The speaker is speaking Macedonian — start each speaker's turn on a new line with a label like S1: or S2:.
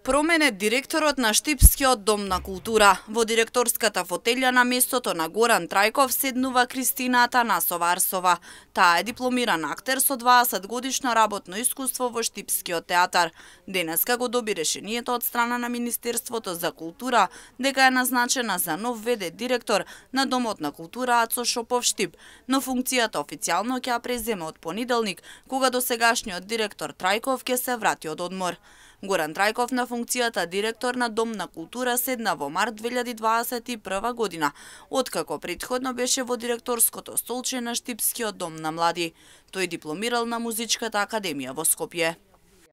S1: Промене директорот на Штипскиот дом на култура. Во директорската фотелја на местото на Горан Трајков седнува Кристина Атанасова Арсова. Таа е дипломиран актер со 20 годишно работно искуство во Штипскиот театар. Денеска го доби решението од страна на Министерството за култура дека е назначена за нов ВД директор на Домот на култура Ацо Шопов Штип, но функцијата официјално ќе ја преземе од понеделник, кога досегашниот директор Трајков ќе се врати од одмор. Горан Трајков на функцијата директор на Дом на култура седна во март 2021 година, откако претходно беше во директорското столче на Штипскиот дом на млади. Тој дипломирал на Музичката академија во Скопје.